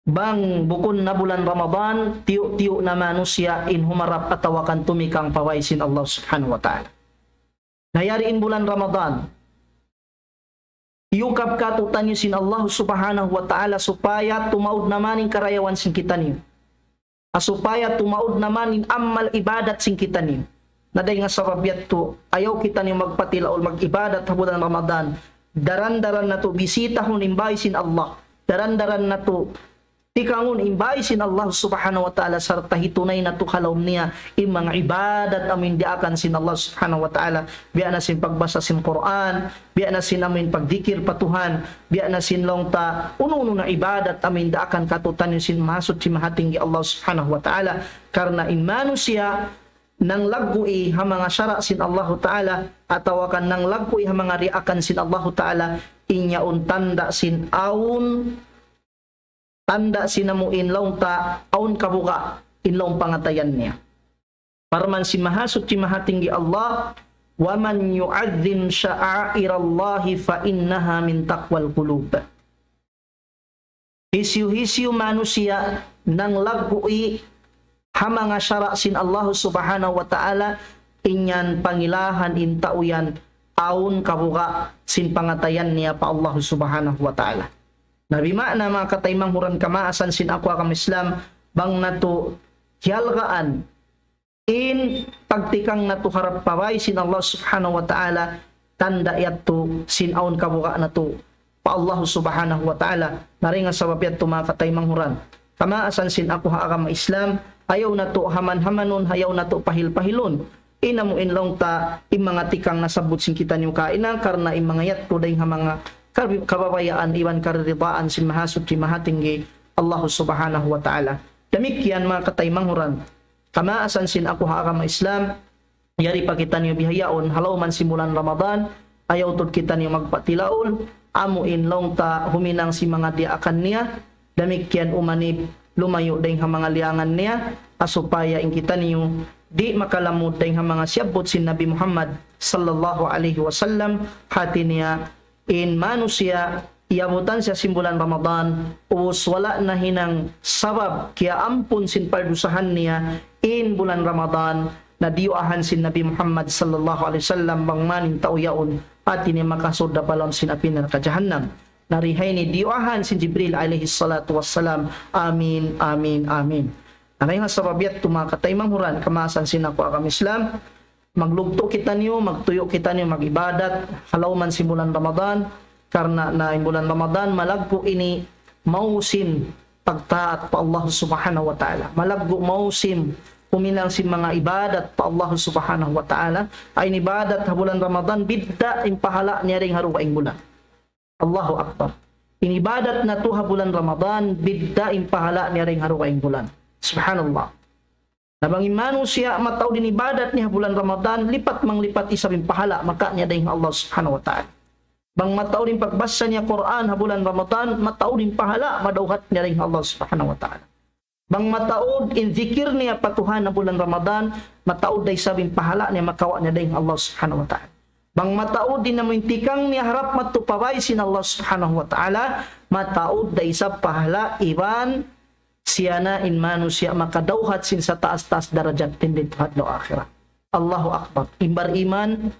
bang bukun na bulan Ramadan, tiyu'-tiyu' na manusiya' in humarap atawa kan tumikang pa way sin Allah Subhanahu wa Ta'ala. Na yari in bulan Ramadan, iyukab katu'taniyu sin Allah Subhanahu wa Ta'ala supaya tumaud naman in karayawan sin kitaniyu. Ha supaya tumaud naman in amal ibadat sin kitaniyu. Na dayn ha sabab yadtu, ayaw kitaniyu magpatilaul mag-ibadat ha bulan Ramadan. Daran-daran natu' bisitahun in bāy sin Allah. Daran-daran natu' tikangun in bāy sin Allah Subhanahu wa Ta'ala, sarta' hitunay natu' ha lawm niya in manga ibadat amu in diyaakan sin Allah Subhanahu wa Ta'ala, biya' na sin pagbasa sin Qur'an, biya' na sin amu in pagdikir pa Tuhan, biya' na sin laung ta unu-unu na ibadat amu in diyaakan katu'taniyu sin Mahasuchi Mahatinggi Allah Subhanahu wa Ta'ala. Karna' in manusiya' nanglaggu'i ha manga sara' sin Allahu Ta'ala, atawa kan nanglaggu'i ha manga diyaakan sin Allahu Ta'ala, in yaun tanda' sin awn tanda' sin amu in laung ta awn kabuga' in lawm pangatayan niya. Parman sin Mahasuchi Mahatinggi Allah, وَمَنْ يُعَظِّمْ شَعَائِرَ اللَّهِ فَإِنَّهَا مِنْ تَقْوَى الْقُلُوبِ. Hisiyu-hisiyu manusiya' nanglaggu'i ha manga sara' sin Allah Subhanahu wa Ta'ala, in yan pangilahan in tau yan awn kabuga' sin pangatayan niya pa Allah Subhanahu wa Ta'ala. Na biya' na, manga kataymanghuran kamaasan sin aku agama Islam, bang natu' hiyalgaan in pagtikang natu' harap pa bāy sin Allah Subhanahu wa Ta'ala, tanda' yadtu sin awn kabuga' natu' pa Allah Subhanahu wa Ta'ala. Na dayn ha sabab yadtu, manga kataymanghuran kamaasan sin aku ha agama Islam, ayaw natu' haman-hamanun, ayaw natu' pahil-pahilun in amu in laung ta in manga tikang nasabbut sin kitaniyu kaina, karna' in manga yadtu dayn ha manga kab-, kababayaan iban karidaan sin Mahasuchi Mahatinggi Allah Subhanahu wa Ta'ala. Damikkiyan manga kataymanghuran, kamaasan sin aku ha agama Islam, yari pa kitaniyu bihaun, ha lawm sin bulan Ramadan, ayaw tuud kitaniyu magpatilaul, amu in laung ta huminang sin manga diyaakan niya, damikkiyan umanib lumayu' dayng ha manga liyangan niya, ha supaya in kitaniyu di' makalamud dayng ha manga siyabbut sin Nabi Muhammad sallallahu alayhi wasallam, hati niya in manusiya' iyabutan siya sin bulan Ramadan, ubus wala' nahinang sabab kiyaampun sin pardusahan niya in bulan Ramadan, na diyuwaahan sin Nabi Muhammad sallallahu alayhi wasallam bang man in tau yaun, hati niya makasud da pa lawm sin api narka' jahannam. Na di ha ini diyuwaahan sin Jibril alayhi salatu wassalam. Amin, amin, amin. Na dayn ha sabab yadtu manga kataymanghuran, kamaasan sin aku agama Islam, maglugtu' kitaniyu, magtuyu' kitaniyu, mag-ibadat, ha lawm sin bulan Ramadan, karna' na in bulan Ramadan, malaggu' ini mawsim pagtaat pa Allah Subhanahu wa Ta'ala. Malaggu' mawsim huminang sin manga ibadat pa Allah Subhanahu wa Ta'ala. Ay in ibadat ha bulan Ramadan, bidda' in pahala' niya dayng ha dugaing bulan. Allahu Akbar. In ibadat natu' ha bulan Ramadan, bidda' in pahala' niya dayng ha dugaing bulan. Subhanallah. Na bang in manusiya' mataud in ibadat niya ha bulan Ramadan, lipat manglipat isab in pahala' makawa' niya dayng ha Allah Subhanahu wa Ta'ala. Bang mataud in pagbasa niya Qur'an ha bulan Ramadan, mataud in pahala' madawhat niya dayng ha Allah Subhanahu wa Ta'ala. Bang mataud in zikir niya pa Tuhan ha bulan Ramadan, mataud da isab in pahala' niya makawa' niya dayng ha Allah Subhanahu wa Ta'ala. Bang mataud in amu in tikang niya harap madtu pa bāy sin Allah Subhanahu wa Ta'ala, mataud da isab pahala' iban siya na in manusiya' makadawhat sin sataas-taas darajat dindi ha adlaw akhirat. Allahu Akbar. In bariman,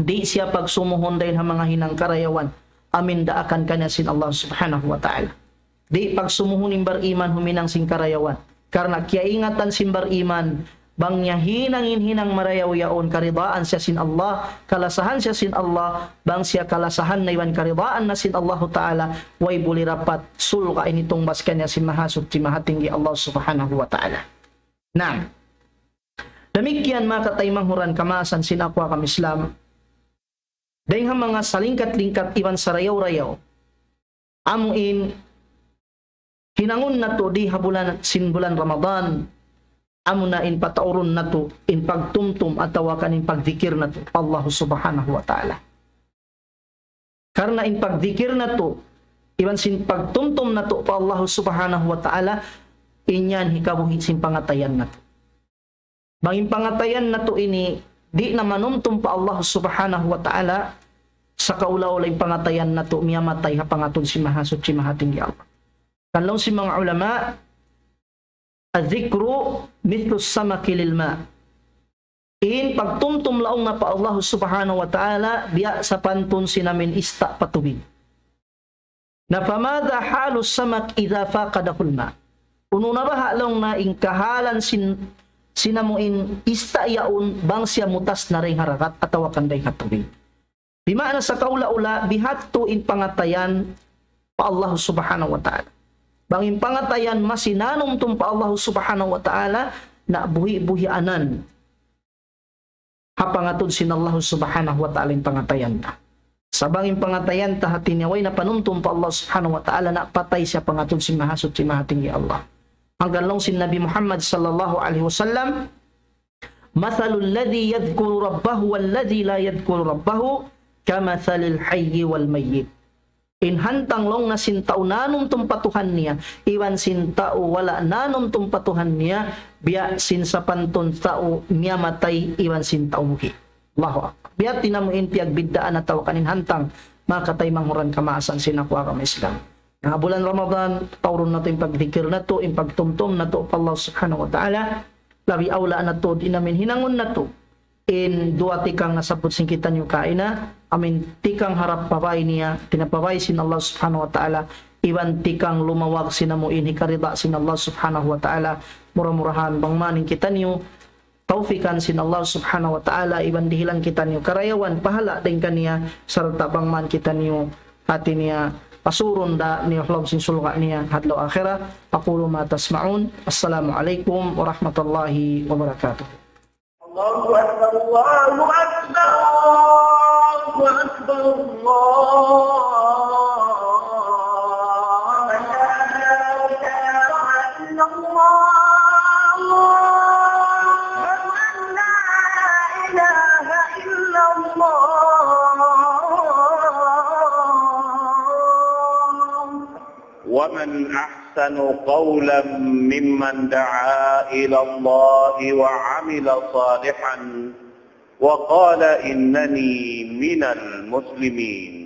di' siya pagsumuhun dayn ha manga hinang karayawan, amu in daakan kaniya sin Allah Subhanahu wa Ta'ala. Di' pagsumuhun in bariman huminang sin karayawan. Karna' kiyaingatan sin bariman, bang niya hinang in hinang marayaw yaun, karidaan siya sin Allah, kalasahan siya sin Allah, bang siya kalasahan na iban karidaan na sin Allahu Ta'ala, way buli dapat surga' ini tungbas kaniya sin Mahasuchi Mahatinggi Allah Subhanahu wa Ta'ala. Na, damikkiyan manga kataymanghuran, kamaasan sin aku agama Islam, dayng ha manga salingkat-lingkat iban sarayaw-rayaw, amu in hinangun natu' di ha bulan sin bulan Ramadan, amu na in pataurun natu' in pagtumtum atawa kan in pagdikir natu' pa Allah Subhanahu wa Ta'ala. Karna' in pagdikir natu', iban sin pagtumtum natu' pa Allah Subhanahu wa Ta'ala, in yan hikabuhi' sin pangatayan natu'. Bang in pangatayan natu' ini, di' na manumtum pa Allah Subhanahu wa Ta'ala, sakaula-ula in pangatayan natu' miyamatay ha pangatud sin Mahasuchi Mahatinggi Allah. Kan laung sin manga ulama, الذكر مثل السمك للماء. In pagtumtum laung na pa Allah Subhanahu wa Ta'ala, biya' sapantun sin amu in ista' pa tubig. Na فماذا حال السمك إذا فقده الماء؟ Unu na baha' laung na in kahalan sin, sin amu in ista' yaun bang siya mutas na dayn ha dagat atawa kan dayn ha tubig. Di' maana sakaula-ula bihadtu in pangatayan pa Allah Subhanahu wa Ta'ala. Bang in pangatayan masi nanumtum pa Allah Subhanahu wa Ta'ala, na buhi'-buhianan ha pangatud sin Allah Subhanahu wa Ta'ala in pangatayan ta. Sa' bang in pangatayan ta hati niya way na panumtum pa Allah Subhanahu wa Ta'ala, na patay siya pangatud sin Mahasuchi Mahatinggi Allah. Hangkan laung sin Nabi Muhammad sallallahu alayhi wasallam, مثل الذي يذكر ربه والذي لا يذكر ربه كمثل الحي والميت. In hantang laung na sin tau nanumtum pa Tuhan niya, iban sin tau wala' nanumtum pa Tuhan niya, biya' sin sapantun tau miyamatay iban sin tau buhi'. Allahu Akbar. Biya' ha yan amu in piyagbiddaan atawa kan in hantang, manga kataymanghuran, kamaasan sin aku agama Islam. Na bulan Ramadan, taurun natu' in pagdikir natu', in pagtumtum natu' pa Allah Subhanahu wa Ta'ala, labi awla natu', di' na amu in hinangun natu'. In duwa tikang nasabbut sin kitaniyu kaina, amu in tikang harap pa bāy niya, pinapabāy sin Allah Subhanahu wa Ta'ala, iban tikang lumawag sin amu in hikarida sin Allah Subhanahu wa Ta'ala, mura-murahan bang man in kitaniyu, tawfikan sin Allah Subhanahu wa Ta'ala, iban dihilan kitaniyu karayawan pahala' dayn kaniya, sarta' bang man kitaniyu hati niya pasurun da niya ha lawm sin surga' niya ha adlaw akhirat. أقول ما تسمعون. السلام عليكم ورحمة الله وبركاته. الله أكبر، الله أكبر، الله أكبر، الله أكبر. أشهد أن لا إله إلا الله. ومن أحسن قولا ممن دعا إلى الله وعمل صالحا وقال إنني من المسلمين.